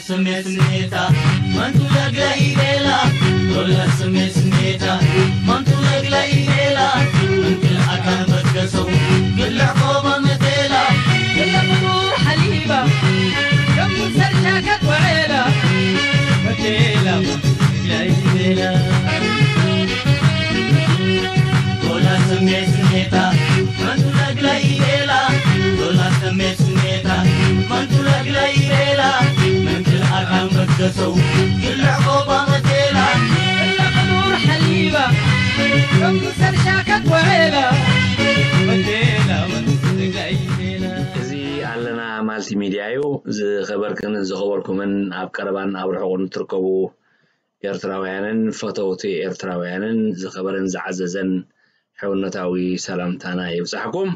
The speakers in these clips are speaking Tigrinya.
ስሜት ስሜታ መንቱ ለግለ ኢሌላ ዶላ ስሜት ስሜታ መንቱ ለግለ ኢሌላ እንክል ኣካን በትገሰው ግልዕ ቆባ መቴላ ግለ ፍጡር ሓሊባ ከም ሰርሻ ከቆዔላ መቴላ መንቱ ለግለ ኢሌላ ዶላ ስሜት ስሜታ መንቱ ለግለ ኢሌላ ዶላ ስሜት ስሜታ መንቱ ለግለ ኢሌላ መንክል ኣካን በትገሰው ግልዕ ቆባ መቴላ ግለ ፍጡር ሓሊባ ከም ሰርሻ ከቆዔላ መቴላ መንቱ ለግለ ኢሌላ እዚ ኣለና ማልቲ ሚድያ እዩ። ዝኸበርክን ዝኸበርኩምን ኣብ ቀረባን ኣብ ርሑቕን ትርከቡ ኤርትራውያንን ፈተውቲ ኤርትራውያንን ዝኸበረን ዝዓዘዘን ሕውነታዊ ሰላምታና ይብጻሕኩም።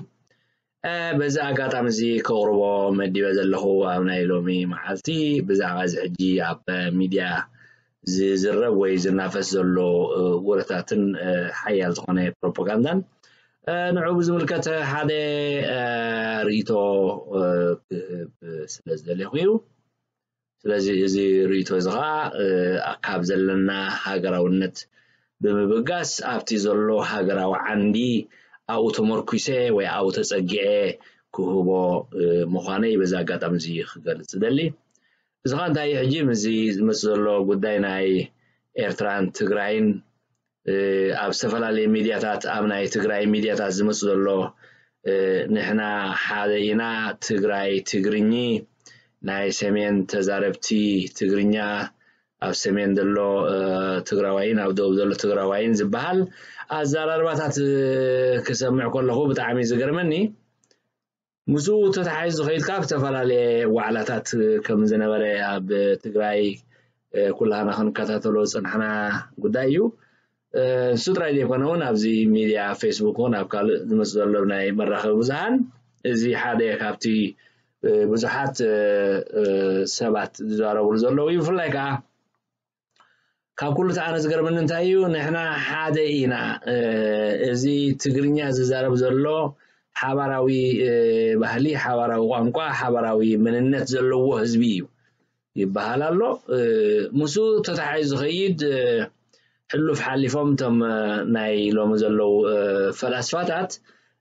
እ፣ በዚ ኣጋጣሚ እዚ ከቕርቦ መዲበ ዘለኹ ኣብ ናይ ሎሚ መዓልቲ ብዛዕባ እዚ ሕጂ ኣብ ሚድያ ዝዝረብ ወይ ዝናፈስ ዘሎ፣ እ፣ ወረታትን፣ እ፣ ሓያል ዝኾነ ፕሮፓጋንዳን፣ እ፣ ንዑ ብዝምልከት ሓደ፣ እ፣ ርእይቶ፣ እ፣ ክህብ ስለ ዝደለኹ እዩ። ስለዚ እዚ ርእይቶ እዚ ኸዓ፣ እ፣ ካብ ዘለና ሃገራውነት ብምብጋስ ኣብቲ ዘሎ ሃገራዊ ዓንዲ ኣብኡ ተመርኲሰ ወይ ኣብኡ ተጸጊዐ ክህቦ፣ እ፣ ምዃነይ በዚ ኣጋጣሚ እዚ ክገልጽ እደሊ። እዚ ኸዓ እንታይ እዩ ሕጂ ምስዚ ዝመጽእ ዘሎ ጉዳይ ናይ ኤርትራን ትግራይን እ፣ ኣብ ዝተፈላለየ ሚድያታት፣ ኣብ ናይ ትግራይ ሚድያታት ዝመጽእ ዘሎ፣ እ፣ ንሕና ሓደ ኢና፣ ትግራይ ትግርኚ፣ ናይ ሰሜን ተዛረብቲ ትግርኛ፣ ኣብ ሰሜን ዘሎ፣ እ፣ ትግራዋይን ኣብ ደቡብ ዘሎ ትግራዋይን ዝበሃል ኣዘራርባታት፣ እ፣ ክሰምዕ ከለኹ ብጣዕሚ ዝገርመኒ። ምስኡ ተተሓሒዙ ዝኸይድ ካብ ዝተፈላለየ ዋዕላታት ከም ዝነበረ ኣብ ትግራይ፣ እ፣ ኩላህና ክንከታተሎ ዝጸናሕና ጉዳይ እዩ። እ፣ ንሱ ጥራይ ዘይኮነ እውን ኣብዚ ሚድያ ፌስቡክ እውን ኣብ ካልእ ዝመጽእ ዘሎ ናይ መራኸቢ ብዙሃን እዚ ሓደ ካብቲ፣ እ፣ ብዙሓት፣ እ፣ እ፣ ሰባት ዝዛረብሉ ዘለዉ እዩ። ብፍላይ ከኣ ካብ ኩሉ እቲ ኣነ ዝገርመኒ እንታይ እዩ፣ ንሕና ሓደ ኢና። እ፣ እዚ ትግርኛ ዝዛረብ ዘሎ ሓባራዊ፣ እ፣ ባህሊ፣ ሓባራዊ ቋንቋ፣ ሓባራዊ መንነት ዘለዎ ህዝቢ እዩ ይበሃል ኣሎ። እ፣ ምስኡ ተተሓሒዙ ዝኸይድ፣ እ፣ ሕሉፍ ሓሊፎም እቶም፣ እ፣ ናይ ሎሚ ዘለዉ፣ እ፣ ፈላስፋታት፣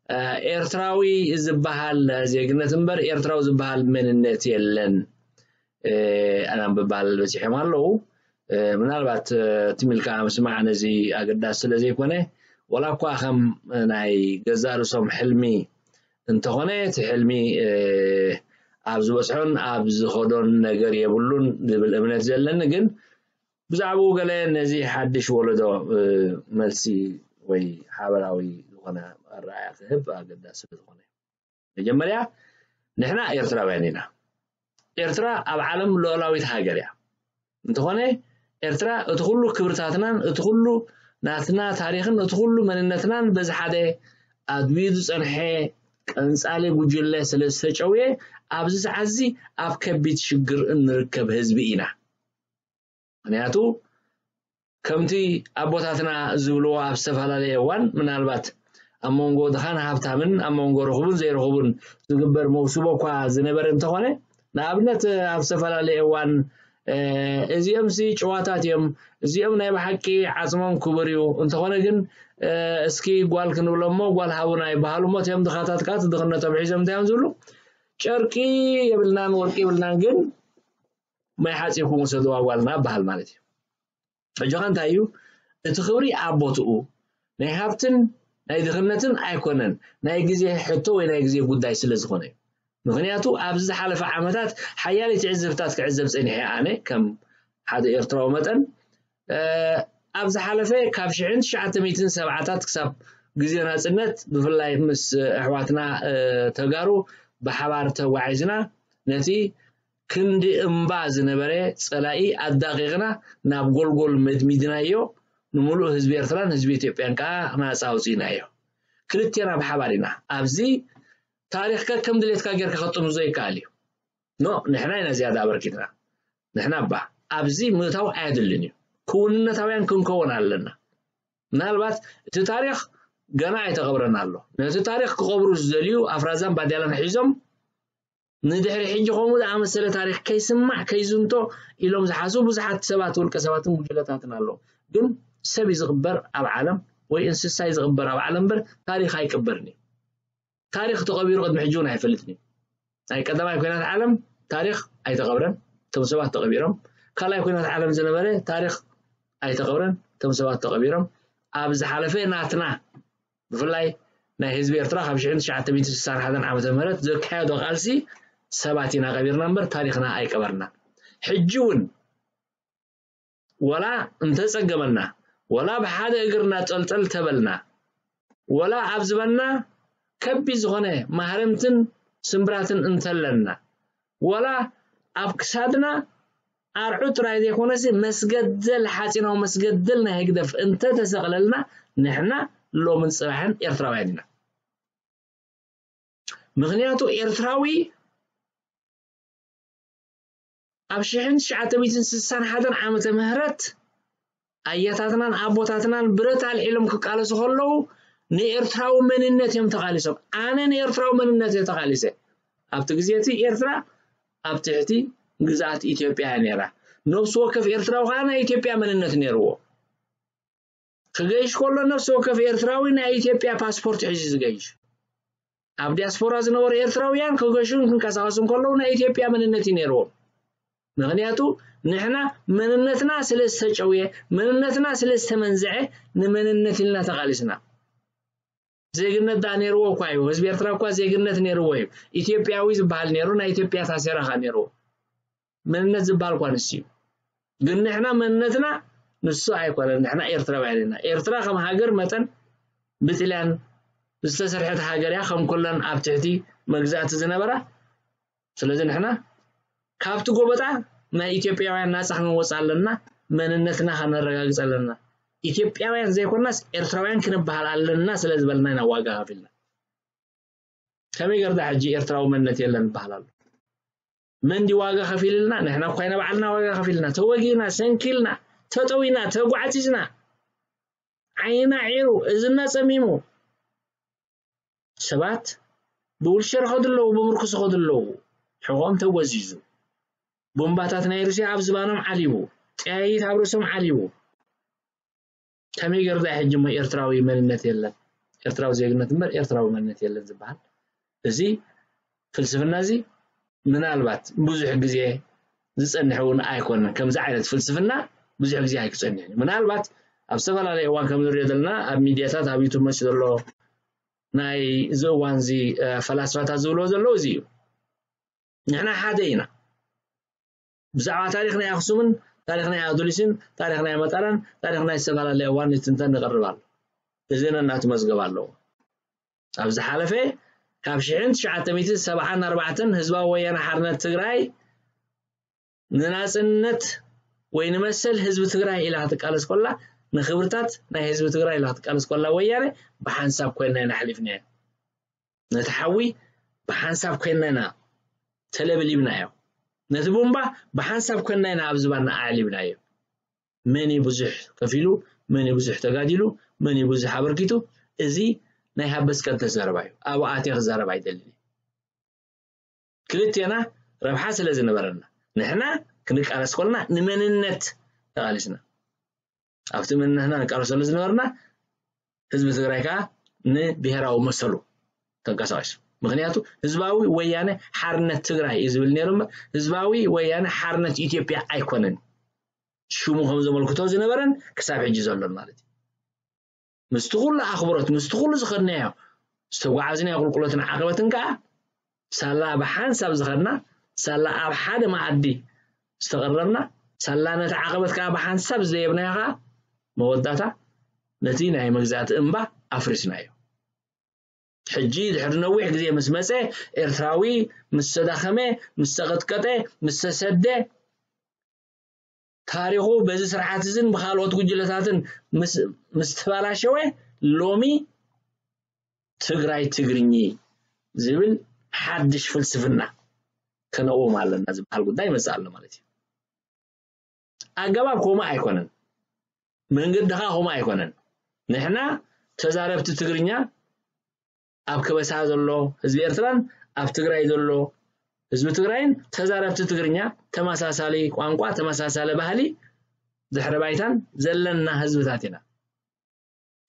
እ፣ ኤርትራዊ ዝበሃል ዜግነት እምበር ኤርትራዊ ዝበሃል መንነት የለን። እ፣ ኣናም ብባል በጺሖም ኣለዉ። እ፣ ምናልባት፣ እ፣ ትም ኢልካ ምስማዕ ነዚ ኣገዳሲ ስለ ዘይኮነ፣ ወላ እኳ ከም ናይ ገዛእ ርእሶም ሕልሚ እንተኾነ፣ እቲ ሕልሚ፣ እ፣ ኣብ ዝበጽሖን ኣብ ዝኸዶን ነገር የብሉን ዝብል እምነት ዘለኒ፣ ግን ብዛዕባኡ ገለ ነዚ ሓድሽ ወለዶ፣ እ፣ መልሲ ወይ ሓበራዊ ዝኾነ ኣረኣእያ ክህብ ኣገዳሲ ስለ ዝኾነ። መጀመርያ ንሕና ኤርትራውያን ኢና። ኤርትራ ኣብ ዓለም ሉዓላዊት ሃገር እያ። እንተኾነ ኤርትራ እቲ ኩሉ ክብርታትናን እቲ ኩሉ ናትና ታሪኽን እቲ ኩሉ መንነትናን በዚ ሓደ ኣድብዩ ዝጸንሐ ቀንጻሊ ጉጅለ ስለ ዝተጨውየ ኣብዚ ሰዓት እዚ ኣብ ከቢድ ሽግር እንርከብ ህዝቢ ኢና። ምኽንያቱ ከምቲ ኣቦታትና ዝብልዎ ኣብ ዝተፈላለየ እዋን ምናልባት ኣብ መንጎ ድኻን ሃብታምን ኣብ መንጎ ርኹብን ዘይርኹብን ዝግበር መውስቦ እኳ ዝነበረ እንተኾነ፣ ንኣብነት ኣብ ዝተፈላለየ እዋን፣ እ፣ እዚኦም ሲ ጭዋታት እዮም፣ እዚኦም ናይ ብሓቂ ዓጽሞም ክቡር እዩ፣ እንተኾነ ግን፣ እ፣ እስኪ ጓል ክንብሎ እሞ ጓል ሃቡና ይበሃሉ እሞ እቲኦም ድኻታት ከኣ እቲ ድኽነቶም ሒዞም እንታይ እዮም ዝብሉ? ጨርቂ የብልናን ወርቂ የብልናን ግን ማይ ሓጺብኩም ውሰድዋ ጓልና በሃል ማለት እዩ። ሕጂ ኸ እንታይ እዩ? እቲ ክብሪ ኣብ ቦትኡ ናይ ሃብትን ናይ ድኽነትን ኣይኮነን፣ ናይ ግዜ ሕቶ ወይ ናይ ግዜ ጉዳይ ስለ ዝኾነ እዩ። ምኽንያቱ ኣብዚ ዝሓለፈ ዓመታት ሓያለይ ትዕዝብታት ክዕዘብ ጸኒሐ ኣነ ከም ሓደ ኤርትራዊ መጠን፣ እ፣ ኣብ ዝሓለፈ ካብ ሽሕን ትሽዓተ ሚእትን ሰብዓታት ክሳብ ግዜ ናጽነት ብፍላይ ምስ ኣሕዋትና፣ እ፣ ተጋሩ ብሓባር ተጓዒዝና ነቲ ክንዲ እምባ ዝነበረ ጸላኢ ኣዳቒቕና ናብ ጎልጎል መድሚድናዮ፣ ንምሉእ ህዝቢ ኤርትራን ህዝቢ ኢትዮጵያን ከኣ ናጻ ኣውጺእናዮ። ክልቴና ብሓባር ኢና ኣብዚ ታሪኽካ ከም ድሌትካ ጌርካ ከጥኑ ዘይከኣል እዩ። ኖ፣ ንሕና ኢና ዝያዳ ኣበርኪትና። ንሕና እባ ኣብዚ ምእታው ኣየድልን እዩ። ክውንነታውያን ክንከውን ኣለና። ምናልባት እቲ ታሪኽ ገና ኣይተቐብረን ኣሎ። ነቲ ታሪኽ ክቐብሩ ዝደልዩ ኣፍራዛን ባዴላን ሒዞም ንድሕሪ ሕጂ ከምኡ ዝኣመሰለ ታሪኽ ከይስማዕ ከይዝንቶ ኢሎም ዝሓስቡ ብዙሓት ሰባት፣ ውልቀ ሰባትን ጉጅለታትን ኣለዉ። ግን ሰብ እዩ ዝቕበር ኣብ ዓለም ወይ እንስሳ እዩ ዝቕበር ኣብ ዓለም እምበር ታሪኽ ኣይቅበርን እዩ። ታሪኽ ተቐቢሩ ቅድሚ ሕጂ እውን ኣይፈልጥን እዩ። ናይ ቀዳማይ ኩናት ዓለም ታሪኽ ኣይተቐብረን፣ እቶም ሰባት ተቐቢሮም። ካልኣይ ኩናት ዓለም ዝነበረ ታሪኽ ኣይተቐብረን፣ እቶም ሰባት ተቐቢሮም። ኣብ ዝሓለፈ ናትና ብፍላይ ናይ ህዝቢ ኤርትራ ካብ ሽሕን ትሽዓተ ሚእትን ስሳን ሓደን ዓመተ ምህረት ዘካየዶ ቃልሲ ሰባት ኢና ቀቢርና እምበር ታሪኽና ኣይቀበርና። ሕጂ እውን ወላ እንተጸገመና፣ ወላ ብሓደ እግርና ጠልጠል ተበልና፣ ወላ ኣብ ዝበና ከቢድ ዝኾነ ማህረምትን ስምብራትን እንተለና፣ ወላ ኣብ ክሳድና ኣርዑ ጥራይ ዘይኮነሲ መስገደል፣ ሓጺናዊ መስገደል ናይ ህግደፍ እንተተሰቕለልና፣ ንሕና ሎምን ጽባሕን ኤርትራውያን ኢና። ምኽንያቱ ኤርትራዊ ኣብ ሽሕን ትሽዓተ ሚእትን ስሳን ሓደን ዓመተ ምህረት ኣያታትናን ኣቦታትናን ብረት ኣልዒሎም ክቃለሱ ከለዉ ንኤርትራዊ መንነት እዮም ተቓሊሶም። ኣነ ንኤርትራዊ መንነት እየ ተቓሊሰ። ኣብቲ ግዜ እቲ ኤርትራ ኣብ ትሕቲ ግዝኣት ኢትዮጵያ እያ ነይራ። ነፍሲ ወከፍ ኤርትራዊ ከኣ ናይ ኢትዮጵያ መንነት ነይርዎ። ክገይሽ ከሎ ነፍሲ ወከፍ ኤርትራዊ ናይ ኢትዮጵያ ፓስፖርት ሒዙ ዝገይሽ። ኣብ ዲያስፖራ ዝነበሩ ኤርትራውያን ክገሹን ክንቀሳቐሱን ከለዉ ናይ ኢትዮጵያ መንነት እዩ ነይርዎም። ምኽንያቱ ንሕና መንነትና ስለ ዝተጨውየ፣ መንነትና ስለ ዝተመንዝዐ ንመንነት ኢልና ተቓሊስና። ዜግነት ደኣ ነይርዎ እኳ እዩ። ህዝቢ ኤርትራ እኳ ዜግነት ነይርዎ እዩ። ኢትዮጵያዊ ዝበሃል ነይሩ፣ ናይ ኢትዮጵያ ታሴራ ኸኣ ነይርዎ። መንነት ዝበሃል እኳ ንሱ እዩ። ግን ንሕና መንነትና ንሱ ኣይኮነን። ንሕና ኤርትራውያን ኢና። ኤርትራ ከም ሃገር መጠን ብጥልያን ዝተሰርሐት ሃገር እያ፣ ከም ኩለን ኣብ ትሕቲ መግዛእቲ ዝነበራ። ስለዚ ንሕና ካብቲ ጎበጣ ናይ ኢትዮጵያውያን ናጻ ክንወጽእ ኣለና፣ መንነትና ከነረጋግጽ ኣለና። ኢትዮጵያውያን ዘይኮናስ ኤርትራውያን ክንበሃል ኣለና ስለ ዝበልና ኢና ዋጋ ከፊልና። ከመይ ገርዳ ሕጂ ኤርትራዊ መንነት የለን ይበሃል ኣሎ? መን ድዩ ዋጋ ከፊልልና? ንሕና እኳ ኢና ባዕልና ዋጋ ከፊልና፣ ተወጊእና፣ ሰንኪልና፣ ተጠዊና፣ ተጓዕጺዝና፣ ዓይንና ዒሩ፣ እዝና ጸሚሙ። ሰባት ብውልቸር ይኸዱ ኣለዉ፣ ብምርኩስ ይኸዱ ኣለዉ። ሕቖም ተጎዚዙ። ቦምባታት ናይ ሩስያ ኣብ ዝባኖም ዓሊቡ፣ ጠያይት ኣብ ርእሶም ዓሊቡ። ከመይ ገይሩ ደኣ ሕጂ እሞ ኤርትራዊ መንነት የለን፣ ኤርትራዊ ዜግነት እምበር ኤርትራዊ መንነት የለን ዝበሃል? እዚ ፍልስፍና እዚ ምናልባት ብዙሕ ግዜ ዝጸንሕ እውን ኣይኮነን። ከምዚ ዓይነት ፍልስፍና ብዙሕ ግዜ ኣይክጸንሕን እዩ። ምናልባት ኣብ ዝተፈላለየ እዋን ከም ንሪኦ ዘለና ኣብ ሚድያታት፣ ኣብ ዩቱብ መሲ ዘሎ ናይ እዚ እዋን እዚ፣ እ፣ ፈላስፋታት ዝብልዎ ዘለዉ እዚ እዩ። ንሕና ሓደ ኢና። ብዛዕባ ታሪኽ ናይ ኣኽሱምን ታሪኽ ናይ ኣዱሊስን ታሪኽ ናይ መጠራን ታሪኽ ናይ ዝተፈላለየ እዋን ንትንተን ንቐርብ ኣሎ። እዚ ነናቱ መዝገብ ኣለዎ። ኣብ ዝሓለፈ ካብ ሽሕን ትሽዓተ ሚእትን ሰብዓን ኣርባዕተን ህዝባዊ ወያነ ሓርነት ትግራይ ንናጽነት ወይ ንመሰል ህዝቢ ትግራይ ኢላ ክትቃለስ ከላ፣ ንኽብርታት ናይ ህዝቢ ትግራይ ኢላ ክትቃለስ ከላ ወያነ ብሓንሳብ ኮይና ኢና ኣሕሊፍናዮ። ነቲ ሓዊ ብሓንሳብ ኮይና ኢና ተለብሊብናዮ። ነቲ ቡምባ ብሓንሳብ ኮይና ኢና ኣብ ዝባና ኣዕሊብናዮ። መን እዩ ብዙሕ ከፊሉ፣ መን እዩ ብዙሕ ተጋዲሉ፣ መን እዩ ብዙሕ ኣበርኪቱ፣ እዚ ናይ ሃበስ ቀደስ ዘረባ እዩ። ኣብኡ ኣትየ ክዛረብ ኣይደልን እየ። ክልቴና ረብሓ ስለ ዝነበረና፣ ንሕና ክንቃለስ ከለና ንመንነት ተቓሊስና። ኣብቲ መንነትና ንቃለሰሉ ዝነበርና ህዝቢ ትግራይ ከኣ ንብሄራዊ መሰሉ ተንቀሳቒሱ። ምኽንያቱ ህዝባዊ ወያነ ሓርነት ትግራይ እዩ ዝብል ነይሩ እምበር ህዝባዊ ወያነ ሓርነት ኢትዮጵያ ኣይኮነን። ሽሙ ከም ዘመልክቶ ዝነበረን ክሳብ ሕጂ ዘሎን ማለት እዩ። ምስቲ ኩሉ ኣኽብሮት፣ ምስቲ ኩሉ ዝኸድናዮ ዝተጓዓዝናዮ ቁልቁለትን ዓቐበትን ከኣ ሳላ ብሓንሳብ ዝኸድና፣ ሳላ ኣብ ሓደ መኣዲ ዝተቐረብና፣ ሳላ ነቲ ዓቐበት ከኣ ብሓንሳብ ዝደየብናዮ ከኣ መወዳእታ ነቲ ናይ መግዛእቲ እምባ ኣፍሪስናዮ። ሕጂ ድሕሪ ነዊሕ ግዜ ምስ መጸ፣ ኤርትራዊ ምስ ተዳኸመ፣ ምስ ተቐጥቀጠ፣ ምስ ተሰደ፣ ታሪኹ በዚ ስርዓት እዝን ብኻልኦት ጉጅለታትን ምስ፣ ምስ ተባላሸወ፣ ሎሚ ትግራይ ትግርኚ፣ ዝብል ሓድሽ ፍልስፍና ከነቕውም ኣለና ዝበሃል ጉዳይ ይመጽእ ኣሎ ማለት እዩ። ኣገባብ ከምኡ ኣይኮነን፣ መንገዲ ኸኣ ከምኡ ኣይኮነን። ንሕና ተዛረብቲ ትግርኛ ኣብ ከበሳ ዘሎ ህዝቢ ኤርትራን ኣብ ትግራይ ዘሎ ህዝቢ ትግራይን ተዛረብቲ ትግርኛ ተመሳሳሊ ቋንቋ፣ ተመሳሳሊ ባህሊ፣ ድሕረ ባይታን ዘለና ህዝብታት ኢና።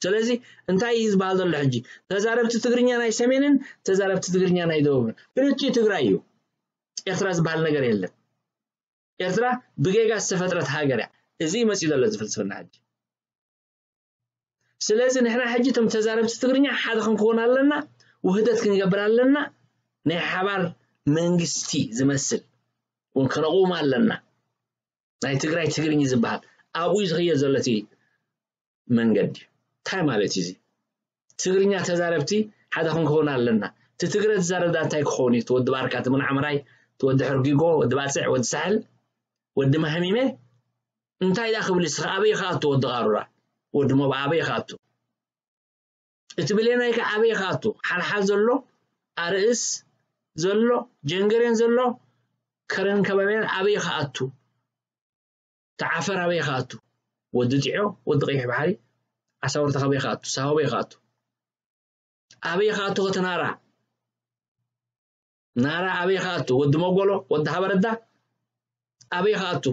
ስለዚ እንታይ እዩ ዝበሃል ዘሎ ሕጂ? ተዛረብቲ ትግርኛ ናይ ሰሜንን ተዛረብቲ ትግርኛ ናይ ደቡብን። ክልቲኡ ትግራይ እዩ። ኤርትራ ዝበሃል ነገር የለን። ኤርትራ ብጌጋ ዝተፈጥረት ሃገር እያ። እዚ እዩ መፂኡ ዘሎ እዚ ፍልስፍና ሕጂ። ስለዚ ንሕና ሕጂ እቶም ተዛረብቲ ትግርኛ ሓደ ክንከውን ኣለና፣ ውህደት ክንገብር ኣለና፣ ናይ ሓባር መንግስቲ ዝመስል እውን ከነቕውም ኣለና። ናይ ትግራይ ትግርኝ ዝበሃል ኣብኡ እዩ ዝኽየድ ዘሎ እቲ መንገዲ። እንታይ ማለት እዩ እዚ? ትግርኛ ተዛረብቲ ሓደ ክንከውን ኣለና። እቲ ትግረ ዝዛረብ ዳ እንታይ ክኸውን እዩ? እቲ ወዲ ባርካ፣ እቲ ምንዓምራይ፣ እቲ ወዲ ሕርጊጎ፣ ወዲ ባጽዕ፣ ወዲ ሳሕል፣ ወዲ ማህሚመ እንታይ ዳ ክብል እስኻ? ኣበይ ክኣቱ ወዲ ቃሩራ? ወዲ ሞብ ኣበይ ክኣቱ? እቲ ብሌናይ ከ ኣበይ ክኣቱ? ሓልሓል ዘሎ፣ ኣርእስ ዘሎ፣ ጀንገሬን ዘሎ፣ ከረን ከባቢያን ኣበይ ክኣቱ? ተዓፈር ኣበይ ክኣቱ? ወዲ ጢዖ፣ ወዲ ቀይሕ ባሕሪ፣ ዓሳውርታ ኣበይ ክኣቱ? ሳሆ ኣበይ ክኣቱ? ኣበይ ክኣቱ? ከተናራ ናራ ኣበይ ክኣቱ? ወዲ መጎሎ፣ ወዲ ሃበረዳ ኣበይ ክኣቱ?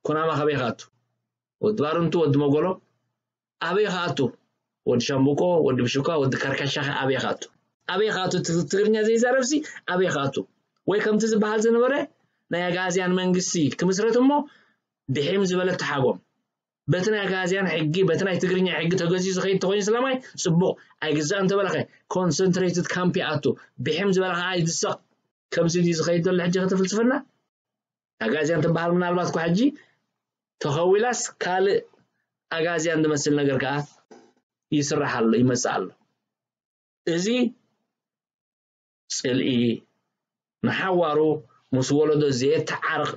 ኩናማ ኣበይ ክኣቱ? ወዲ ባርንቱ፣ ወዲ መጎሎ ኣበይ ክኣቱ? ወዲ ሻምብቆ፣ ወዲ ብሽኳ፣ ወዲ ከርከሻ ከ ኣበይ ክኣቱ? ኣበይ ክኣቱ? ት-፣ ትግርኛ ዘይዛረብሲ ኣበይ ክኣቱ? ወይ ከምቲ ዝበሃል ዝነበረ ናይ ኣጋዝያን መንግስቲ ክምስረት እሞ ብሒም ዝበለ ተሓጎም። በቲ ናይ ኣጋዝያን ሕጊ፣ በቲ ናይ ትግርኛ ሕጊ ተገዚኡ ዝኸይድ ተኾይኑ ስለማይ ጽቡቕ፣ ኣይግዛእን ተበለኸ ኮንሰንትሬትድ ካምፕ ይኣቱ። ብሒም ዝበለ ከኣ ይድሰቕ። ከምዚ ድዩ ዝኸይድ ዘሎ ሕጂ እቲ ፍልስፍና? ኣጋዝያን ትበሃል ምናልባት እኳ ሕጂ ተኸዊላስ ካልእ ኣጋዝያን ዝመስል ነገር ከኣ ይስራሕ ኣሎ፣ ይመጽእ ኣሎ። እዚ ጽልኢ ንሓዋሩ ምስ ወለዶ ዘየተዓርቕ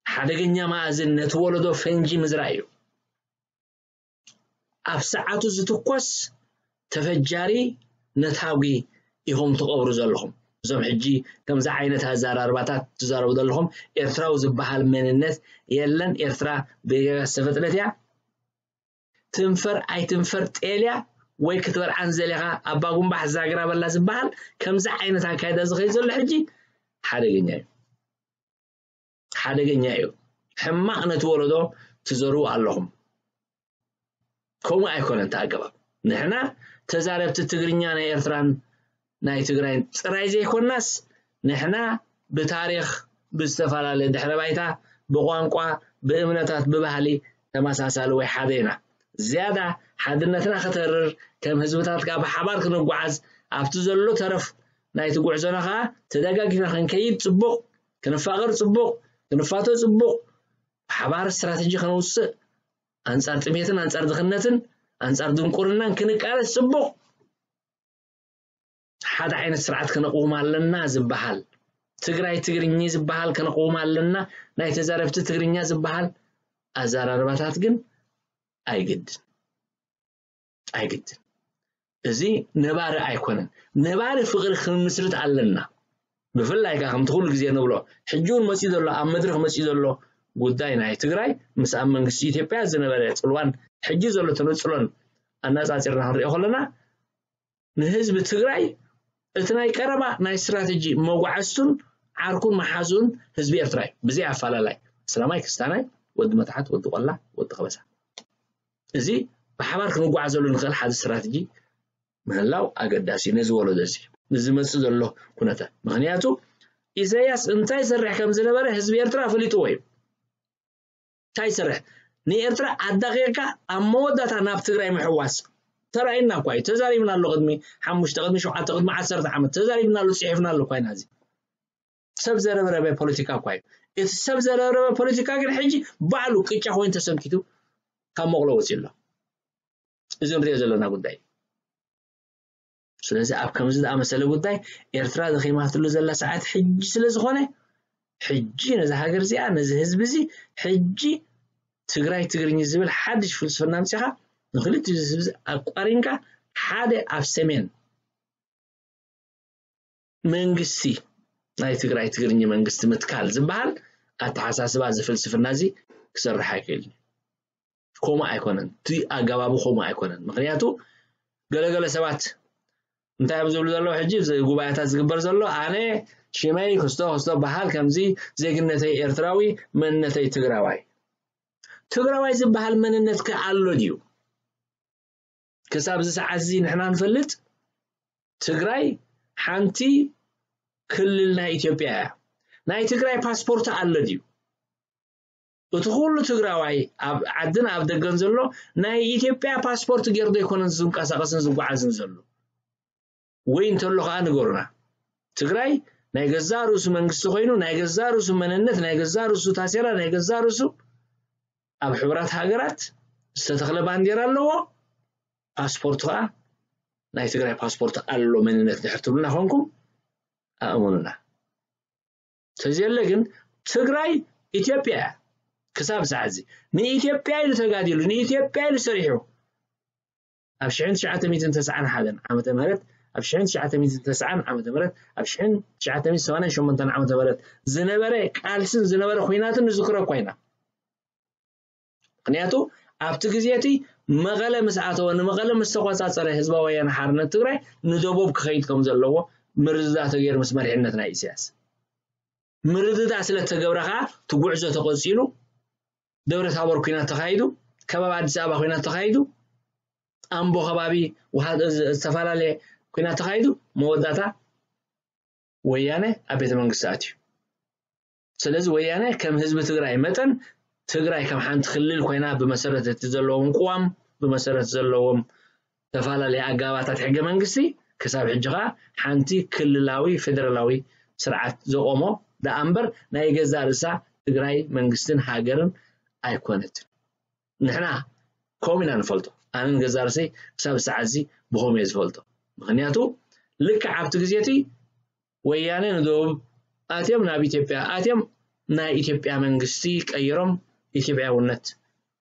ሓደገኛ መኣዝን ነቲ ወለዶ ፈንጂ ምዝራእ እዩ። ኣብ ሰዓቱ ዝትኮስ ተፈጃሪ ነታጒ ኢኹም ትቐብሩ ዘለኹም። እዞም ሕጂ ከምዚ ዓይነት ኣዘራርባታት ትዛረቡ ዘለኹም ኤርትራዊ ዝበሃል መንነት የለን። ኤርትራ ብጌጋ ዝተፈጥረት እያ። ትንፈር ኣይትንፈር ጤል እያ ወይ ክትበልዓ እንዘሊኻ ኣባ ጉንባሕ ዛግራ በላ ዝበሃል ከምዚ ዓይነት ኣካይዳ ዝኸይድ ዘሎ ሕጂ ሓደገኛ እዩ። ሓደገኛ እዩ። ሕማቕ ነቲ ወለዶ ትዘርኡ ኣለኹም። ከምኡ ኣይኮነን እቲ ኣገባብ። ንሕና ተዛረብቲ ትግርኛ ናይ ኤርትራን ናይ ትግራይን ጥራይ ዘይኮናስ ንሕና ብታሪኽ፣ ብዝተፈላለየ ድሕረ ባይታ፣ ብቋንቋ፣ ብእምነታት፣ ብባህሊ ተመሳሳሊ ወይ ሓደ ኢና። ዝያዳ ሓድነትና ከተርር፣ ከም ህዝብታት ከኣ ብሓባር ክንጓዓዝ፣ ኣብቲ ዘሎ ተረፍ ናይቲ ጉዕዞና ከኣ ተደጋጊፍና ክንከይድ ጽቡቕ፣ ክንፋቐር ጽቡቕ፣ ክንፋቶ ጽቡቕ፣ ብሓባር ስትራተጂ ከነውጽእ፣ ኣንጻር ጥሜትን ኣንጻር ድኽነትን ኣንጻር ድንቁርናን ክንቃለስ ጽቡቕ። ሓደ ዓይነት ስርዓት ከነቕውም ኣለና ዝበሃል፣ ትግራይ ትግርኚ ዝበሃል ከነቕውም ኣለና፣ ናይ ተዛረብቲ ትግርኛ ዝበሃል ኣዘራርባታት ግን ኣይግድን፣ ኣይግድን። እዚ ነባሪ ኣይኮነን። ነባሪ ፍቕሪ ክንምስርት ኣለና። ብፍላይ ከኣ ከምቲ ኩሉ ግዜ ንብሎ፣ ሕጂ እውን መጺኡ ዘሎ፣ ኣብ መድረኽ መጺኡ ዘሎ ጉዳይ ናይ ትግራይ ምስ ኣብ መንግስቲ ኢትዮጵያ ዝነበረ ጽልዋን ሕጂ ዘሎ ተነጽሎን ኣነጻጺርና ክንሪኦ ከለና፣ ንህዝቢ ትግራይ እቲ ናይ ቀረባ ናይ ስትራተጂ መጓዓዝቱን ዓርኩን መሓዙን ህዝቢ ኤርትራ እዩ። ብዘይ ኣፈላላይ፣ እስላማይ፣ ክስታናይ፣ ወዲ መታሕት፣ ወዲ ቆላ፣ ወዲ ከበሳ። እዚ ብሓባር ክንጓዓዘሉ ንኽእል ሓደ ስትራተጂ ምህላው ኣገዳሲ እዩ ነዚ ወለዶ እዚ፣ ንዝመጽእ ዘሎ ኩነታት። ምኽንያቱ ኢሳያስ እንታይ ይሰርሕ ከም ዝነበረ ህዝቢ ኤርትራ ኣፈሊጥዎ እዩ። እንታይ ይሰርሕ? ንኤርትራ ኣዳኺቕካ ኣብ መወዳእታ ናብ ትግራይ ምሕዋስ ተራእዩና እኳ እዩ። ተዛሪብና ኣሎ ቅድሚ ሓሙሽተ፣ ቅድሚ ሸውዓተ፣ ቅድሚ ዓሰርተ ዓመት ተዛሪብና ኣሎ፣ ጽሒፍና ኣሎ እኳ ኢና። እዚ ሰብ ዘረብረበ ፖለቲካ እኳ እዩ። እቲ ሰብ ዘረብረበ ፖለቲካ ግን ሕጂ ባዕሉ ቅጫ ኮይኑ ተሰንኪቱ ካብ መቕሎ ወፂኡ ኣሎ። እዚ ንሪኦ ዘለና ጉዳይ እዩ። ስለዚ ኣብ ከምዚ ዝኣመሰለ ጉዳይ ኤርትራ ደኺማትሉ ዘላ ሰዓት ሕጂ ስለ ዝኾነ፣ ሕጂ ነዚ ሃገር እዚኣ፣ ነዚ ህዝቢ እዚ፣ ሕጂ ትግራይ ትግርኝ ዝብል ሓድሽ ፍልስፍና ኣምጺኻ ንክልቲኡ ህዝቢ እዚ ኣቋሪንካ ሓደ ኣብ ሰሜን መንግስቲ ናይ ትግራይ ትግርኛ መንግስቲ ምትካል ዝበሃል ኣተሓሳስባ እዚ ፍልስፍና እዚ ክሰርሕ ኣይክእልን። ከምኡ ኣይኮነን። እቲ ኣገባቡ ከምኡ ኣይኮነን። ምክንያቱ ገለገለ ሰባት እንታይ እዮም ዝብሉ ዘለዉ? ሕጂ እዚ ጉባኤታት ዝግበር ዘሎ ኣነ ሽመይ ክስቶ ክስቶ በሃል ከምዚ ዜግነተይ ኤርትራዊ መንነተይ ትግራዋይ። ትግራዋይ ዝበሃል መንነት ከ ኣሎ ድዩ? ክሳብ እዚ ሰዓት እዚ ንሕና ንፈልጥ ትግራይ ሓንቲ ክልል ናይ ኢትዮጵያ እያ። ናይ ትግራይ ፓስፖርት ኣሎ ድዩ? እቲ ኩሉ ትግራዋይ ኣብ ዓድን ኣብ ደገን ዘሎ ናይ ኢትዮጵያ ፓስፖርት ገይሩ ዘይኮነን ዝንቀሳቐስን ዝጓዓዝን ዘሎ? ወይ እንተሎ ከዓ ንገሩና። ትግራይ ናይ ገዛ ርእሱ መንግስቲ ኮይኑ ናይ ገዛ ርእሱ መንነት ናይ ገዛ ርእሱ ታሴራ ናይ ገዛ ርእሱ ኣብ ሕቡራት ሃገራት ዝተተኽለ ባንዴራ ኣለዎ። ፓስፖርት ከዓ ናይ ትግራይ ፓስፖርት ኣሎ መንነት ድሕር ትብልና ኮንኩም ኣእመኑና። ተዘየለ ግን ትግራይ ኢትዮጵያ እያ። ክሳብ ሰዓት እዚ ንኢትዮጵያ ኢሉ ተጋዲሉ ንኢትዮጵያ ኢሉ ሰሪሑ ኣብ ሽሕን ትሽዓተ ሚእትን ተስዓን ሓደን ዓመተ ምህረት ኣብ ሽሕን ትሽዓተ ሚእትን ተስዓን ዓመተ ምህረት ኣብ ሽሕን ትሽዓተ ሚእትን ሰማንያን ሸሞንተን ዓመተ ምህረት ዝነበረ ቃልስን ዝነበረ ኩናትን ንዝክሮ እኳ ኢና። ምክንያቱ ኣብቲ ግዜ እቲ መቐለ ምስ ኣተወ ንመቐለ ምስ ተቆፃፀረ ህዝባዊ ወያነ ሓርነት ትግራይ ንደቡብ ክኸይድ ከም ዘለዎ ምርድዳእ ተገይሩ ምስ መሪሕነት ናይ ኢሳያስ ምርድዳእ ስለ ተገብረ ከዓ እቲ ጉዕዞ ተቆፂሉ ደብረ ታቦር ኩናት ተኻይዱ ከባቢ ኣዲስ ኣበባ ኩናት ተኻይዱ ኣምቦ ከባቢ ውሃ ዝተፈላለየ ኩናት ተኻይዱ መወዳእታ ወያነ ኣብ ቤተ መንግስቲ ኣትዩ። ስለዚ ወያነ ከም ህዝቢ ትግራይ መጠን ትግራይ ከም ሓንቲ ክልል ኮይና ብመሰረት እቲ ዘለዎም ቅዋም ብመሰረት ዘለዎም ዝተፈላለየ ኣጋባታት ሕገ መንግስቲ ክሳብ ሕጂ ከዓ ሓንቲ ክልላዊ ፌደራላዊ ስርዓት ዘቆሞ ደኣ እምበር ናይ ገዛ ርእሳ ትግራይ መንግስትን ሃገርን ኣይኮነትን። ንሕና ከምኡ ኢና ንፈልጦ። ኣነ ንገዛ ርእሰይ ክሳብ ሰዓት እዚ ብኸምኡ እየ ዝፈልጦ። ምክንያቱ ልክዕ ኣብቲ ግዜ እቲ ወያነ ንደቡብ ኣትዮም ናብ ኢትዮጵያ ኣትዮም ናይ ኢትዮጵያ መንግስቲ ቀይሮም ኢትዮጵያውነት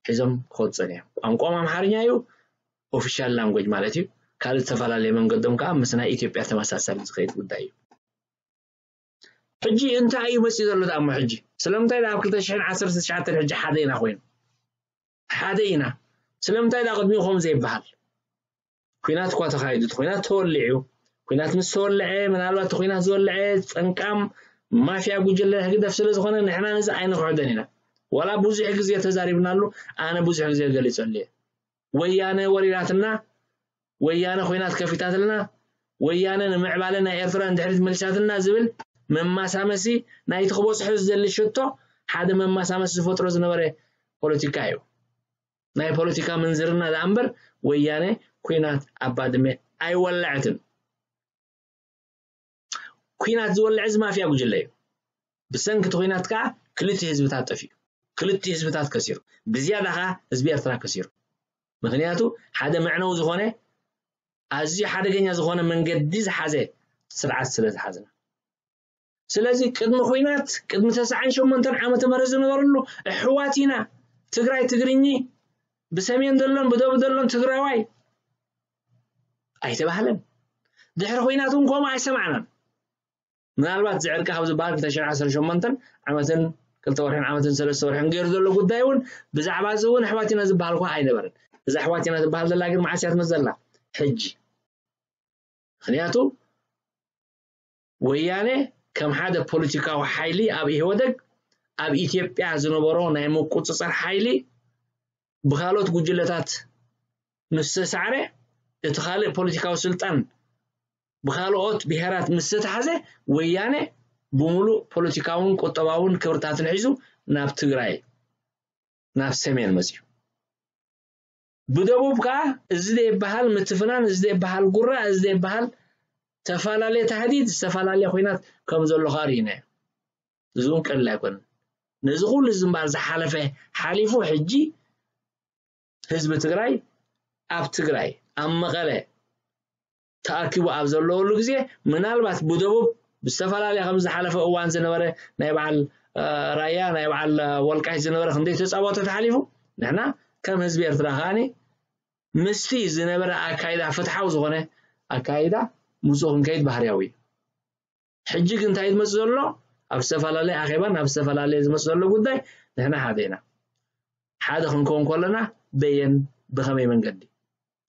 ሒዞም ክወፁ እዮም። ቋንቋኦም ኣምሓርኛ እዩ፣ ኦፊሻል ላንጎጅ ማለት እዩ። ካልእ ዝተፈላለየ መንገዶም ከዓ ምስ ናይ ኢትዮጵያ ተመሳሳሊ ዝኸይድ ጉዳይ እዩ። ሕጂ እንታይ እዩ መፂኡ ዘሎ ደኣ እሞ ሕጂ? ስለምንታይ ደኣ ኣብ ክልተ ሽሕን ዓሰርተ ትሽዓተን ሕጂ ሓደ ኢና ኮይኑ? ሓደ ኢና። ስለምንታይ ደኣ ቅድሚኡ ከምኡ ዘይበሃል? ኩናት እኳ ተኻይዱ፣ እቲ ኩናት ተወሊዑ። ኩናት ምስ ተወልዐ፣ ምናልባት እቲ ኩናት ዝወልዐ ፀንቃም ማፍያ ጉጅለ ህግደፍ ስለ ዝኾነ ንሕና ነዚ ኣይንኽሕዶን ኢና። ዋላ ብዙሕ ግዜ ተዛሪብናሉ፣ ኣነ ብዙሕ ግዜ ገሊፀሉ እየ። ወያነ ወሪራትና፣ ወያነ ኮይናት ከፊታትልና፣ ወያነ ንምዕባለ ናይ ኤርትራ ንድሕሪት መሊሳትና ዝብል መማሳመሲ ናይቲ ክበፅሖ ዝደሊ ሽቶ ሓደ መማሳመሲ ዝፈጥሮ ዝነበረ ፖለቲካ እዩ። ናይ ፖለቲካ ምንዝርና ደኣ እምበር ወያነ ኩናት ኣብ ባድመ ኣይወለዐትን። ኩናት ዝወልዐ እዚ ማፍያ ጉጅለ እዩ። ብሰንኪ እቲ ኩናት ከዓ ክልተ ህዝብታት ጠፊኡ፣ ክልተ ህዝብታት ከሲሩ፣ ብዝያዳ ከዓ ህዝቢ ኤርትራ ከሲሩ። ምክንያቱ ሓደ መዕነው ዝኾነ ኣዝዩ ሓደገኛ ዝኾነ መንገዲ ዝሓዘ ስርዓት ስለ ዝሓዝና። ስለዚ ቅድሚ ኩናት ቅድሚ ተስዓን ሸሞንተን ዓመተ ምህረት ዝነበረሉ ኣሕዋት ኢና ትግራይ ትግርኚ ብሰሜን ዘሎን ብደቡብ ዘሎን ትግራዋይ ኣይተባህለን። ድሕሪ ኩናት እውን ከምኡ ኣይሰማዕናን። ምናልባት እዚ ዕርቂ ካብ ዝበሃል ክልተ ሽሕን ዓሰርተ ሸሞንተን ዓመትን ክልተ ወርሕን ዓመትን ሰለስተ ወርሕን ገይሩ ዘሎ ጉዳይ እውን ብዛዕባ እዚ እውን ኣሕዋት ኢና ዝበሃል እኳ ኣይነበረን። እዛ ኣሕዋት ኢና ዝበሃል ዘላ ግን መዓስ እያ ትመፅእ ዘላ? ሕጂ። ምክንያቱ ወያነ ከም ሓደ ፖለቲካዊ ሓይሊ ኣብ ኢህወደግ ኣብ ኢትዮጵያ ዝነበሮ ናይ ምቁፅፃር ሓይሊ ብካልኦት ጉጅለታት ምስ ተሳዕረ እቲ ካልእ ፖለቲካዊ ስልጣን ብካልኦት ብሄራት ምስ ዝተታሕዘ ወያነ ብምሉእ ፖለቲካውን ቁጠባውን ክብርታትን ሒዙ ናብ ትግራይ ናብ ሰሜን መፅዩ። ብደቡብ ከዓ እዚ ዘይበሃል ምትፍናን እዚ ዘይበሃል ጉራ እዚ ዘይበሃል ዝተፈላለየ ታህዲድ ዝተፈላለየ ኮይናት ከም ዘሎ ከዓ ርኢናዮ። እዚ እውን ቀሊል ኣይኮነን። ነዚ ኩሉ ዝንባር ዝሓለፈ ሓሊፉ ሕጂ ህዝቢ ትግራይ ኣብ ትግራይ ኣብ መቐለ ተኣኪቡ ኣብ ዘለወሉ ግዜ ምናልባት ብደቡብ ብዝተፈላለየ ከም ዝሓለፈ እዋን ዝነበረ ናይ በዓል ራያ ናይ በዓል ወልቃይት ዝነበረ ክንደይ ተፃወተ ተሓሊፉ ንሕና ከም ህዝቢ ኤርትራ ከዓኒ ምስቲ ዝነበረ ኣካይዳ ፍትሓዊ ዝኾነ ኣካይዳ ምስኡ ክንከይድ ባህርያዊ እዩ። ሕጂ ግን እንታይ ዝመጽእ ዘሎ? ኣብ ዝተፈላለየ ኣኼባን ኣብ ዝተፈላለየ ዝመጽእ ዘሎ ጉዳይ ንሕና ሓደ ኢና። ሓደ ክንከውን ከለና በየን፣ ብኸመይ መንገዲ?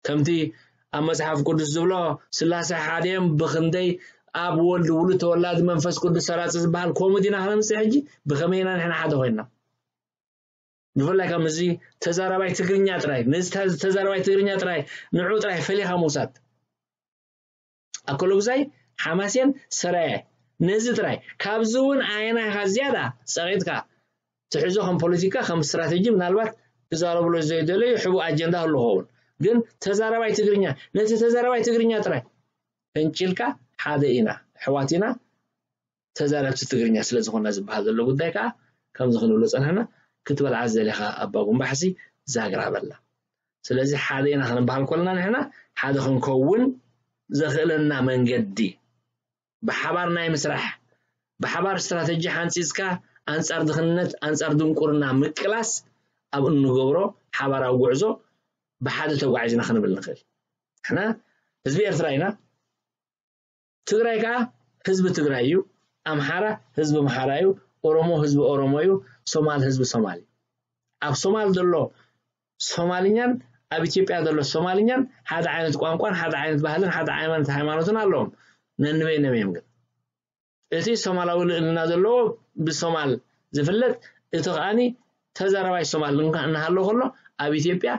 ከምቲ ኣብ መጽሓፍ ቅዱስ ዝብሎ፣ ስላሴ ሓደ እዮም፣ ብኽንደይ? ኣብ ወልድ፣ ውሉድ፣ ተወላዲ መንፈስ ቅዱስ ሰራጺ ዝበሃል። ከምኡ ዲና ከነምጽእ ሕጂ? ብኸመይ ኢና ንሕና ሓደ ኮይንና? ብፍላይ ከም እዚ ተዛራባይ ትግርኛ ጥራይ፣ ነዚ ተ- ተዛራባይ ትግርኛ ጥራይ፣ ንዑ ጥራይ ፈሊኻ ምውሳድ። ኣከለጉዛይ፣ ሓማሴን፣ ሰራየ፣ ነዚ ጥራይ። ካብዚ እውን ኣየናይ ኢኻ ዝያዳ ጸቒጥካ ትሕዞ? ከም ፖለቲካ፣ ከም ስትራተጂ፣ ምናልባት ክዛረብሎ ዘይደለዩ ሕቡእ ኣጀንዳ ህሉ ኸውን፣ ግን ተዛራባይ ትግርኛ፣ ነቲ ተዛራባይ ትግርኛ ጥራይ ፈንጭልካ፣ ሓደ ኢና፣ ኣሕዋት ኢና፣ ተዛረብቲ ትግርኛ ስለ ዝኾና ዝበሃል ዘሎ ጉዳይ ከዓ፣ ከምዚ ክንብሎ ጸንሕና፣ ክትበልዓ ዝደለኻ ኣባ ጉንባሕሲ ዛግራ በላ። ስለዚ ሓደ ኢና ክንበሃል ከለና፣ ንሕና ሓደ ክንከውን ዘኽእለና መንገዲ፣ ብሓባር ናይ ምስራሕ፣ ብሓባር ስትራተጂ ሓንጺጽካ፣ ኣንጻር ድኽነት፣ ኣንጻር ድንቁርና ምቅላስ፣ ኣብ እንገብሮ ሓባራዊ ጉዕዞ ብሓደ ተጓዒዝና ክንብል ንኽእል። ንሕና ህዝቢ ኤርትራ ኢና። ትግራይ ከዓ ህዝቢ ትግራይ እዩ። ኣምሓራ ህዝቢ ኣምሓራ እዩ። ኦሮሞ ህዝቢ ኦሮሞ እዩ። ሶማል ህዝቢ ሶማል እዩ። ኣብ ሶማል ዘሎ ሶማልኛን ኣብ ኢትዮጵያ ዘሎ ሶማልኛን ሓደ ዓይነት ቋንቋን ሓደ ዓይነት ባህልን ሓደ ዓይነት ሃይማኖትን ኣለዎም። ነንበይኖም እዮም። ግን እቲ ሶማላዊ ልዕልና ዘለዎ ብሶማል ዝፍለጥ፣ እቲ ከኣኒ ተዛራባይ ሶማል እንካ- እናሃለወ ከሎ፣ ኣብ ኢትዮጵያ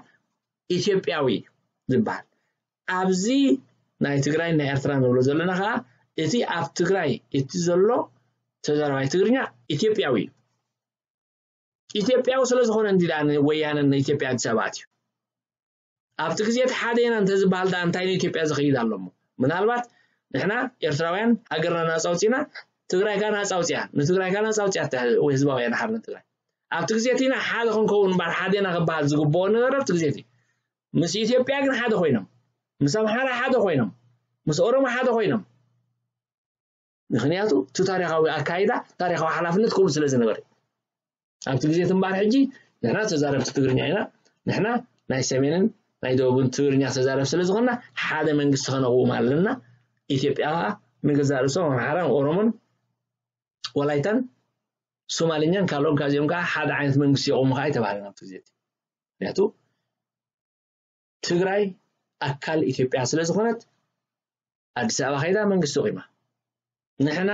ኢትዮጵያዊ ዝበሃል። ኣብዚ ናይ ትግራይ ናይ ኤርትራ ንብሎ ዘለና ከዓ፣ እቲ ኣብ ትግራይ እቲ ዘሎ ተዛራባይ ትግርኛ ኢትዮጵያዊ እዩ። ኢትዮጵያዊ ስለ ዝኾነ እንዲ ደኣ ንወያነን ንኢትዮጵያ ኣዲስ ኣበባ ኣትዩ። ኣብቲ ግዜ እቲ ሓደ ኢና እንተዝበሃል ደኣ እንታይ ንኢትዮጵያ ዝኸይድ ኣሎ እሞ? ምናልባት ንሕና ኤርትራውያን ሃገርና ናጻ ኣውጺእና፣ ትግራይ ከኣ ናጻ ኣውጺኣ፣ ንትግራይ ከኣ ናጻ ኣውጺኣ፣ ህዝባውያን ሓርነት ትግራይ። ኣብቲ ግዜ እቲ ኢና ሓደ ክንከውን እምበር ሓደ ኢና ክበሃል ዝግብኦ ነበረ ኣብቲ ግዜ እቲ። ምስ ኢትዮጵያ ግን ሓደ ኮይኖም፣ ምስ ኣምሓራ ሓደ ኮይኖም፣ ምስ ኦሮሞ ሓደ ኮይኖም። ምኽንያቱ እቲ ታሪኻዊ ኣካይዳ፣ ታሪኻዊ ሓላፍነት ከምኡ ስለ ዝነበረ። ኣብቲ ግዜ እቲ እምበኣር ሕጂ ንሕና ተዛረብቲ ትግርኛ ኢና፣ ንሕና ናይ ሰሜንን ናይ ደቡብን ትግርኛ ተዛረብ ስለ ዝኾንና ሓደ መንግስቲ ከነቕውም ኣለና። ኢትዮጵያ ከኣ ንገዛእ ርእሶም ኣምሓራን ኦሮሞን ወላይታን ሶማልኛን ካልኦን ካዚኦም ከኣ ሓደ ዓይነት መንግስቲ የቑሙ ከኣ ኣይተባህለን ኣብቲ ግዜ እቲ። ምኽንያቱ ትግራይ ኣካል ኢትዮጵያ ስለ ዝኾነት ኣዲስ ኣበባ ከይዳ መንግስቲ ኣቑማ። ንሕና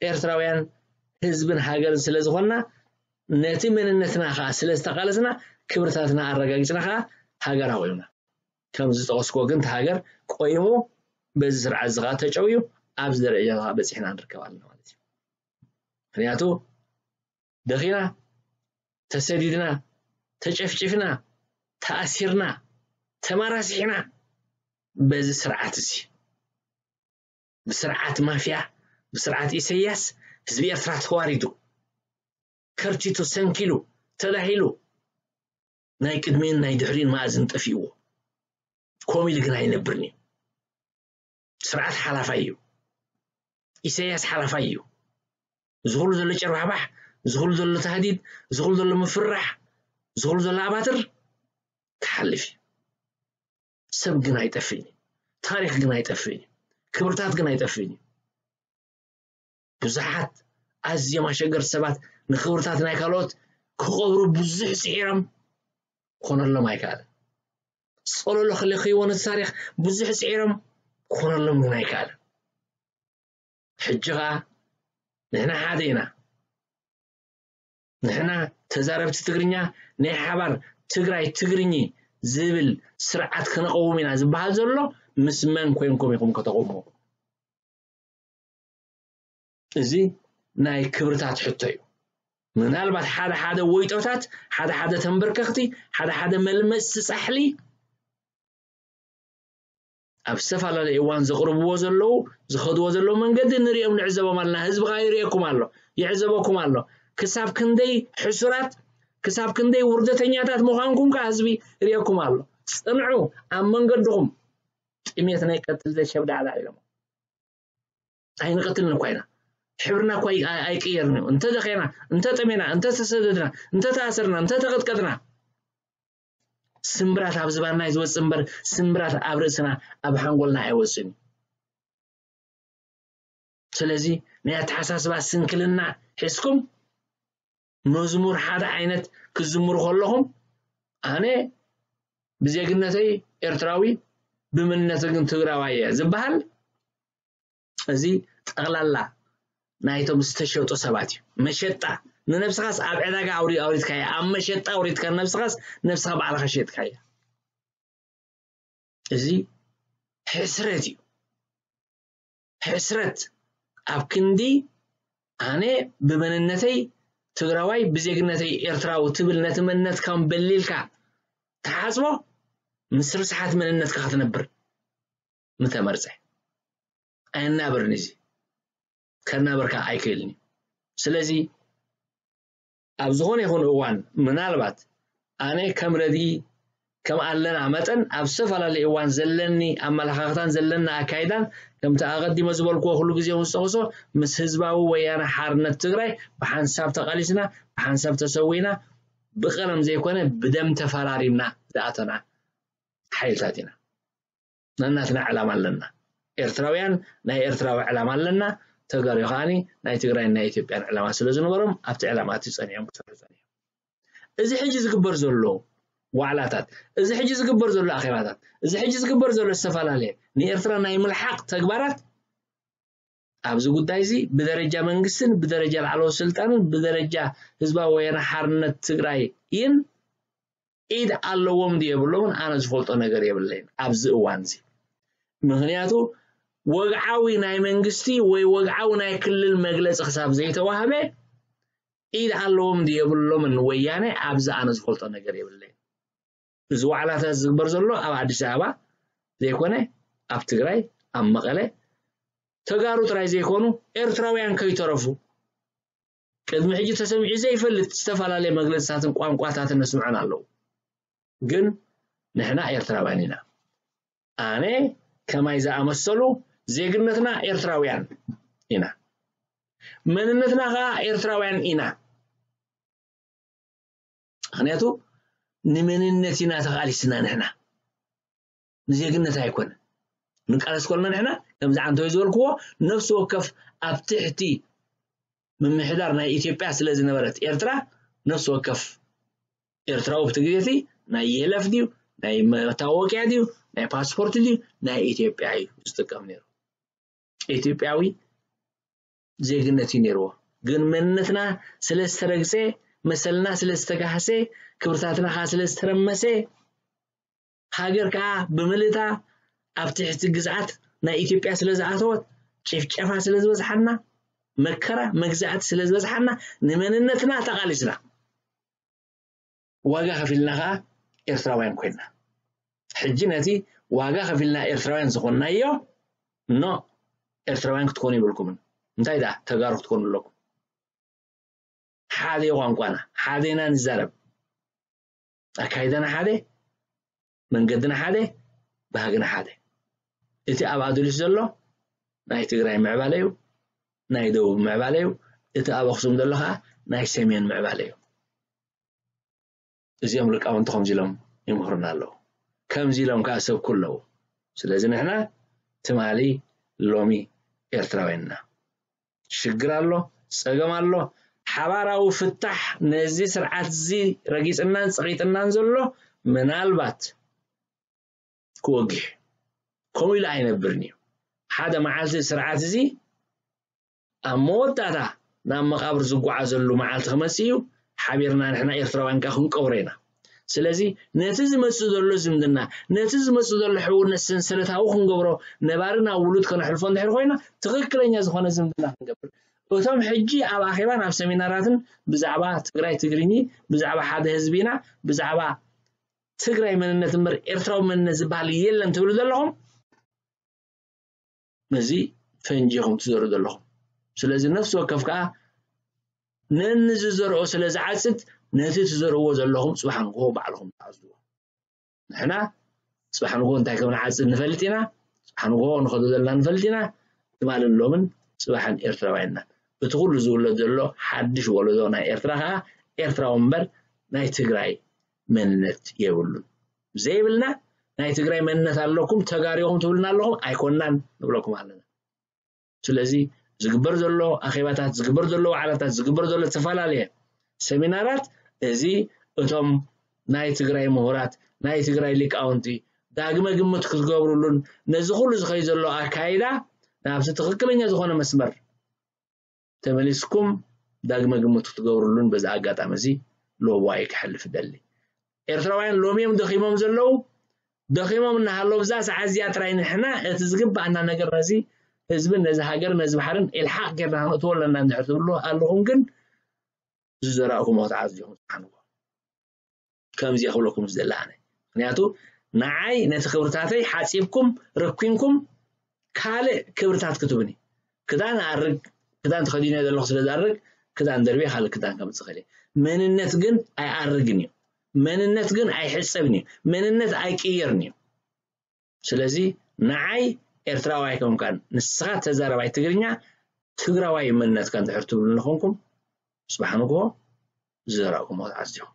ኤርትራውያን ህዝብን ሃገርን ስለ ዝኾንና ነቲ መንነትና ከኣ ስለ ዝተቓለስና ክብርታትና ኣረጋጊጽና ከኣ ሃገር ኣቑምና። ከም ዝጠቐስኩዎ ግን እቲ ሃገር ቆይሙ በዚ ስርዓት እዚ ከኣ ተጨውዩ ኣብዚ ደረጃ ከኣ በጺሕና ንርከብ ኣለና ማለት እዩ። ምኽንያቱ ደኺና፣ ተሰዲድና፣ ተጨፍጭፍና፣ ተኣሲርና፣ ተማራሲሕና በዚ ስርዓት እዚ። ብስርዓት ማፍያ፣ ብስርዓት ኢሰያስ ህዝቢ ኤርትራ ተዋሪዱ፣ ከርቲቱ፣ ሰንኪሉ፣ ተዳሂሉ፣ ናይ ቅድሚኡን ናይ ድሕሪኡን መኣዝን ጠፊእዎ። ኮም ኢሉ ግን ኣይነብርን እዩ። ስርዓት ሓላፋይ እዩ። ኢሰያስ ሓላፋይ እዩ። ዝኹሉ ዘሎ ጨርባሕባሕ፣ ዝኹሉ ዘሎ ታህዲድ፣ ዝኹሉ ዘሎ ምፍራሕ፣ ዝኹሉ ዘሎ ኣባትር ክሓልፍ እዩ። ሰብ ግን ኣይጠፍእን እዩ። ታሪኽ ግን ኣይጠፍእን እዩ። ክብርታት ግን ኣይጠፍእን እዩ። ብዙሓት ኣዝዮም ኣሸገርቲ ሰባት ንክብርታት ናይ ካልኦት ክቐብሩ ብዙሕ ጽዒሮም፣ ክኾነሎም ኣይከኣለን። ጸሎሎ ክልክይዎ ነቲ ታሪኽ ብዙሕ ጽዒሮም፣ ክኾነሎም ግን ኣይከኣለን። ሕጂ ኸኣ ንሕና ሓደ ኢና። ንሕና ተዛረብቲ ትግርኛ ናይ ሓባር ትግራይ ትግርኚ ዝብል ስርዓት ክነቐውም ኢና ዝበሃል ዘሎ ምስ መን ኮይንኩም ኢኹም ከተቐውምዎ? እዚ ናይ ክብርታት ሕቶ እዩ። ምናልባት ሓደ ሓደ ወይጦታት፣ ሓደ ሓደ ተንበርከኽቲ፣ ሓደ ሓደ መልመጽቲ ጻሕሊ ኣብ ዝተፈላለየ እዋን ዘቕርብዎ ዘለዉ፣ ዝኸድዎ ዘለዉ መንገዲ ንሪኦም ንዕዘቦም ኣለና። ህዝቢ ከኣ ይርእየኩም ኣሎ፣ ይዕዘበኩም ኣሎ። ክሳብ ክንደይ ሕሱራት፣ ክሳብ ክንደይ ውርደተኛታት ምዃንኩም ከኣ ህዝቢ ይርእየኩም ኣሎ። ጽንዑ ኣብ መንገድኹም። ጥሜት ናይ ቀትል ዘሸብዳዕዳዕ ኢሎም። ኣይንቐትልን እኳ ኢና። ሕብርና እኳ ኣይ- ኣይቅየርን እዩ። እንተ ደኸና፣ እንተ ጠሜና፣ እንተ ተሰደድና፣ እንተ ተኣሰርና፣ እንተ ተቐጥቀጥና፣ ስምብራት ኣብ ዝባንና እዩ ዝወጽእ እምበር፣ ስምብራት ኣብ ርእስና፣ ኣብ ሓንጎልና ኣይወጽእን እዩ። ስለዚ ናይ ኣተሓሳስባ ስንክልና ሒዝኩም መዝሙር ሓደ ዓይነት ክትዝምሩ ከለኹም ኣነ ብዜግነተይ ኤርትራዊ፣ ብመንነተይ ግን ትግራዋይ እየ ዝበሃል፣ እዚ ጠቕላላ ናይቶም ዝተሸጡ ሰባት እዩ። መሸጣ፣ ንነብስኻስ ኣብ ዕዳጋ ኣውሪ-፣ ኣውሪድካያ፣ ኣብ መሸጣ ኣውሪድካ ነብስኻስ፣ ነብስኻ ባዕልኻ ሸጥካያ። እዚ ሕስረት እዩ። ሕስረት ኣብ ክንዲ ኣነ ብመንነተይ ትግራዋይ ብዜግነተይ ኤርትራዊ ትብል ነቲ መንነትካ በሊልካ ትሓጽቦ ምስ ርስሓት መንነትካ ክትነብር ምተመርጸ። ኣየናብርን እዚ ከናበርካ ኣይክእልን እዩ። ስለዚ ኣብ ዝኾነ ይኹን እዋን ምናልባት ኣነ ከም ረድኢ ከም ኣለና መጠን ኣብ ዝተፈላለዩ እዋን ዘለኒ ኣመለኻኽታን ዘለና ኣካይዳን ከምቲ ኣቐዲመ ዝበልክዎ ኩሉ ግዜ እውን ዝጠቕሶ ምስ ህዝባዊ ወያነ ሓርነት ትግራይ ብሓንሳብ ተቓሊስና ብሓንሳብ ተሰዊና ብቐለም ዘይኮነ ብደም ተፈራሪምና ዝኣተና ሓይልታት ኢና። ነናትና ዕላማ ኣለና። ኤርትራውያን ናይ ኤርትራዊ ዕላማ ኣለና። ተጋሩ ከዓኒ ናይ ትግራይን ናይ ኢትዮጵያን ዕላማ ስለ ዝነበሮም ኣብቲ ዕላማ እቲ ጸኒዖም ክሰርሑ ጸኒሖም። እዚ ሕጂ ዝግበር ዘሎ ዋዕላታት፣ እዚ ሕጂ ዝግበር ዘሎ ኣኼባታት፣ እዚ ሕጂ ዝግበር ዘሎ ዝተፈላለየ ንኤርትራ ናይ ምልሓቕ ተግባራት ኣብዚ ጉዳይ እዚ ብደረጃ መንግስትን ብደረጃ ላዕለዎት ስልጣንን ብደረጃ ህዝባዊ ወያነ ሓርነት ትግራይን ኢድ ኣለዎም ድዩ የብሎምን ኣነ ዝፈልጦ ነገር የብለይን ኣብዚ እዋን እዚ። ምኽንያቱ ወግዓዊ ናይ መንግስቲ ወይ ወግዓዊ ናይ ክልል መግለፂ ክሳብ ዘይተዋህበ ኢድ ኣለዎም ድዩ የብሎምን ወያነ ኣብዚ ኣነ ዝፈልጦ ነገር የብለይን። እዚ ዋዕላታት ዝግበር ዘሎ ኣብ ኣዲስ ኣበባ ዘይኮነ ኣብ ትግራይ ኣብ መቐለ ተጋሩ ጥራይ ዘይኮኑ ኤርትራውያን ከይተረፉ ቅድሚ ሕጂ ተሰሚዑ ዘይፈልጥ ዝተፈላለየ መግለፅታትን ቋንቋታትን ነስምዐን ኣለዉ። ግን ንሕና ኤርትራውያን ኢና። ኣነ ከማይ ዝኣመሰሉ ዜግነትና ኤርትራውያን ኢና። መንነትና ከዓ ኤርትራውያን ኢና። ምኽንያቱ ንመንነት ኢና ተቓሊስና ንሕና። ንዜግነት ኣይኮነ። ንቃለስ ከለና ንሕና ከምዚ ዓንተወይ ዝበልክዎ ነፍሲ ወከፍ ኣብ ትሕቲ ምምሕዳር ናይ ኢትዮጵያ ስለ ዝነበረት ኤርትራ ነፍሲ ወከፍ ኤርትራዊ ኣብቲ ግዜ እቲ ናይ የለፍ ድዩ ናይ መታወቅያ ድዩ ናይ ፓስፖርት ድዩ ናይ ኢትዮጵያ እዩ ዝጥቀም ነይሩ። ኢትዮጵያዊ ዜግነት እዩ ነይርዎ። ግን መንነትና ስለ ዝተረግፀ፣ መሰልና ስለ ዝተጋህሰ፣ ክብርታትና ከዓ ስለ ዝተረመሰ፣ ሃገር ከዓ ብምልእታ ኣብ ትሕቲ ግዝኣት ናይ ኢትዮጵያ ስለ ዝኣተወት፣ ጭፍጨፋ ስለ ዝበዝሓና፣ መከራ መግዛእቲ ስለ ዝበዝሓና፣ ንመንነትና ተቓሊስና። ዋጋ ከፊልና ከዓ ኤርትራውያን ኮይና። ሕጂ ነቲ ዋጋ ከፊልና ኤርትራውያን ዝኾንናዮ፣ ኖ፣ ኤርትራውያን ክትኮኑ ይብልኩምን። እንታይ ደኣ ተጋሩ ክትኮኑ ኣለኩም። ሓደ ቋንቋና፣ ሓደ ኢና ንዛረብ። ኣካይዳና ሓደ፣ መንገድና ሓደ፣ ባህግና ሓደ። እቲ ኣብ ኣዱሊስ ዘሎ ናይ ትግራይ ምዕባለ እዩ፣ ናይ ደቡብ ምዕባለ እዩ። እቲ ኣብ ኣኽሱም ዘሎ ከዓ ናይ ሰሜን ምዕባለ እዩ። እዚኦም ሊቃውንቲ ከምዚ ኢሎም ይምህሩና ኣለዉ። ከምዚ ኢሎም ከዓ ሰብኩ ኣለዉ። ስለዚ ንሕና ትማሊ ሎሚ ኤርትራውያን ኢና። ሽግር ኣሎ፣ ጸገም ኣሎ። ሓባራዊ ፍታሕ ነዚ ስርዓት እዚ ረጊጽናን ጸቒጥናን ዘሎ ምናልባት ክወግሕ ከምኡ ኢሉ ኣይነብርን እዩ። ሓደ መዓልቲ ስርዓት እዚ ኣብ መወዳእታ ናብ መቓብር ዝጓዓዘሉ መዓልቲ ክመጽእ እዩ። ሓቢርና ንሕና ኤርትራውያን ከኣ ክንቀብሮ ኢና። ስለዚ ነቲ ዝመጽእ ዘሎ ዝምድና፣ ነቲ ዝመጽእ ዘሎ ሕውነት ሰንሰለታዊ ክንገብሮ፣ ነባሪ ናብ ውሉድ ከነሕልፎ እንድሕር ኮይና፣ ትኽክለኛ ዝኾነ ዝምድና ክንገብር። እቶም ሕጂ ኣብ ኣኼባን ኣብ ሰሚናራትን ብዛዕባ ትግራይ ትግርኚ፣ ብዛዕባ ሓደ ህዝቢ ኢና፣ ብዛዕባ ትግራይ መንነት እምበር ኤርትራዊ መንነት ዝበሃል የለን ትብሉ ዘለኹም፣ ነዚ ፈንጂ ኢኹም ትዘርኡ ዘለኹም። ስለዚ ነፍሲ ወከፍ ከኣ ነንዝዘርኦ ስለ ዝዓጽድ፣ ነቲ ትዘርእዎ ዘለኹም ጽባሕ ንግሆ ባዕልኹም ትዓጽድዎ። ንሕና ጽባሕ ንግሆ እንታይ ከም ንዓጽድ ንፈልጥ ኢና። ጽባሕ ንግሆ ንኸዶ ዘለና ንፈልጥ ኢና። ትማልን ሎምን ጽባሕን ኤርትራውያን ኢና። እቲ ኩሉ ዝውለድ ዘሎ ሓድሽ ወለዶ ናይ ኤርትራ ከኣ ኤርትራዊ እምበር ናይ ትግራይ መንነት የብሉን። ዘይብልና ናይ ትግራይ መንነት ኣለኩም፣ ተጋሩ ኢኹም ትብሉና ኣለኹም፣ ኣይኮናን ንብለኩም ኣለና። ስለዚ ዝግበር ዘሎ ኣኼባታት፣ ዝግበር ዘሎ ዋዕላታት፣ ዝግበር ዘሎ ዝተፈላለየ ሰሚናራት፣ እዚ እቶም ናይ ትግራይ ምሁራት፣ ናይ ትግራይ ሊቃውንቲ ዳግመ ግምት ክትገብሩሉን ነዚ ኩሉ ዝኸይ ዘሎ ኣካይዳ ናብቲ ትኽክለኛ ዝኾነ መስመር ተመሊስኩም ዳግመ ግምት ክትገብሩሉን በዚ ኣጋጣሚ እዚ ሎብዋይ ክሕልፍ እደሊ። ኤርትራውያን ሎሚ እዮም ደኺሞም ዘለዉ። ደኺሞም እናሃለዉ ብዛ ሰዓት እዚኣ ጥራይ ንሕና እቲ ዝግባኣና ነገር ነዚ ህዝብን ነዚ ሃገርን ነዚ ባሕርን ኢልሓቕ ጌርና ክንእትዎ ኣለና እንድሕር ትብሉ ኣለኹም ግን ዝዘራእኩሞ ክትዓጽ ዲኹም ትሓንዎ። ከምዚ ክብለኩም ዝደሊ ኣነ። ምክንያቱ ንዓይ ነቲ ክብርታተይ ሓጺብኩም ረኪንኩም ካልእ ክብርታት ክትብኒ። ክዳን ኣርግ፣ ክዳን ተኸዲነ ዘለኹ ስለ ዝኣርግ ክዳን ደርቤ ካልእ ክዳን ከምጽእ ክእል እየ። መንነት ግን ኣይኣርግን እዩ። መንነት ግን ኣይሕጸብን እዩ። መንነት ኣይቅየርን እዩ። ስለዚ ንዓይ ኤርትራዋይ ከምካን ንስኻ ተዛረባይ ትግርኛ ትግራዋይ መንነትካ እንድሕር ትብሉ ንኾንኩም ጽባሕ ንግሆ ዝዘራእኩሞ ክትዓጽ ዲኹም።